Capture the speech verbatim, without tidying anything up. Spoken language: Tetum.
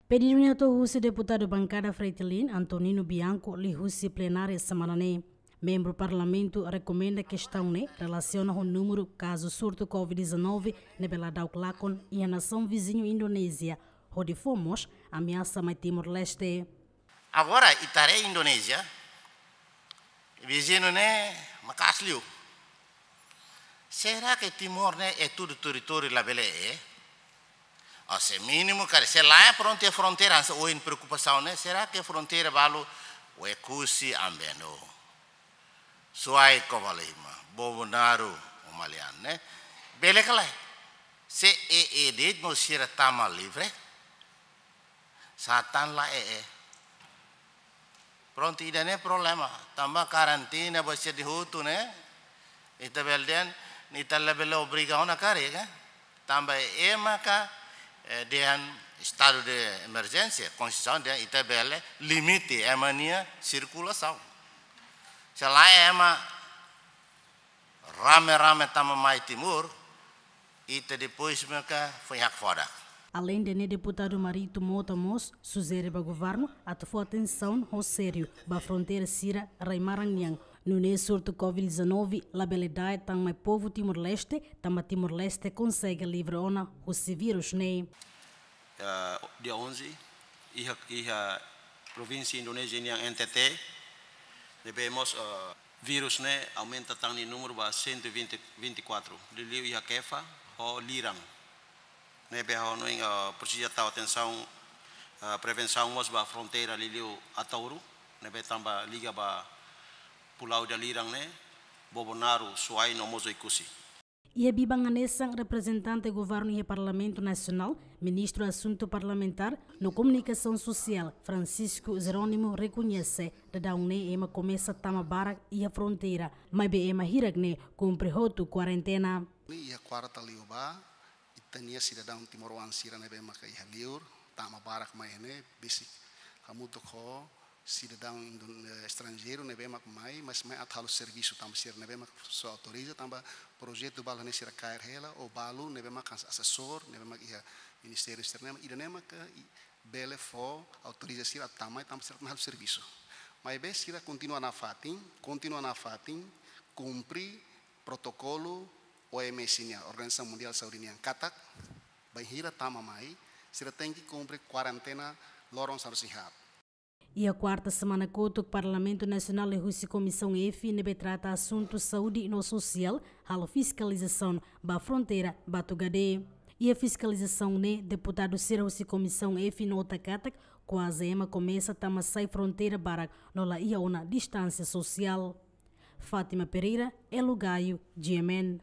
Pedidu ne'e hato'o husi deputadu bankada Fretilin, Antonino Bianco, liuhusi plenária semana ne'e. Membru Parlamentu rekomenda kestaun ne'e relasiona ho númeru kazu surtu covid dezanove ne'ebé ladauk lakon iha nasaun viziñu Indonézia, hodi fó mós ameasa mai Timor-Leste. Agora, ita haree Indonézia, viziñu ne'e maka'as liu. Será que Timor ne'e é tudo território labele? Ou se mínimu, karik, se lae prontu iha fronteira, hanesan ohin preokupasaun ne'e, será que fronteira balu Oekusi, Ambeno, Suai, Covalima, Bobonaro, Malian ne'e? Bele ka lae? Se é, é de'it no sira tama livre, sá tan lae é. Prontu, ida-ne'e problema. Tanba karantina ba sira hotu ne'e, ita bele dehan, ita labele obriga ona karik, eh? Tanba ema ka, eh, dehan estadu de emerjénsia, konstituisaun dehan ita bele limite ema nia sirkulasaun. Se lae ema rame-rame tama mai Timor, ita depois maka foin hakfodak. Aleinde ne'e, deputadu Marito Mota mós sujere ba governu atu fó atensaun ho sériu ba fronteira sira rai-maran nian. Nune'e surtu covid dezanove labele da'et tan mai povu Timor-Leste, tanba Timor-Leste konsege livre ona husi vírus ne'e. Eh, dia onze, iha, iha provínsia Indonézia nian N T T, ne'ebé mós, eh, vírus ne'e aumenta tan nia númeru ba cento e vinte, vinte e quatro. Liuliu iha Kefa ho Lirang. Ne'ebé ha'u hanoin, eh, presiza tau atensaun, eh, prevensaun mós ba fronteira liuliu Ataúro, ne'ebé tanba liga ba Pulau ida Lirang ne'e, Bobonaro, Suai no mós Oekusi. Iha biban hanesan, reprezentante governu iha Parlamentu Nasionál, Ministru Asuntu Parlamentár no Komunikasaun Sosiál, Francisco Jerónimo, rekoñese daudaun ne'e ema komesa tama barak iha fronteira, maibé ema hirak ne'e kumpre hotu kuarentena. Iha kuarta liubá, ita-nia sidadaun timoroan sira ne'ebé maka iha liur tama barak mai ne'e, besik hamutuk ho sidadaun Indon-, eh, estranjeiru ne'ebé mak mai, mas mai atu halo servisu tanba sira ne'ebé mak só autoriza, tanba projetu balu ne'e sira kaer hela, ou balu ne'ebé mak asesór ne'ebé mak iha ministériu sira-ne'e, ida-ne'e mak i-, bele fó autoriza sira atu tama mai tanba sira atu halo servisu. Maibé sira kontinua nafatin, kontinua nafatin kumpre protokolu O M S nian, Organizasaun Mundiál Saúde nian, katak bainhira tama mai, sira tenke kumpre kuarentena loron sanulu-resin-haat. Iha kuarta semana kotuk, Parlamentu Nasionál liuhusi Komisaun F ne'ebé trata asuntu saúde no sosiál halo fiskalizasaun ba fronteira Batugade. Iha fiskalizasaun ne'e, deputadu sira husi Komisaun F nota katak kuaze ema komesa tama sai fronteira barak no la iha ona distánsia sosiál. Fátima Pereira, Elo Gaio, G M N.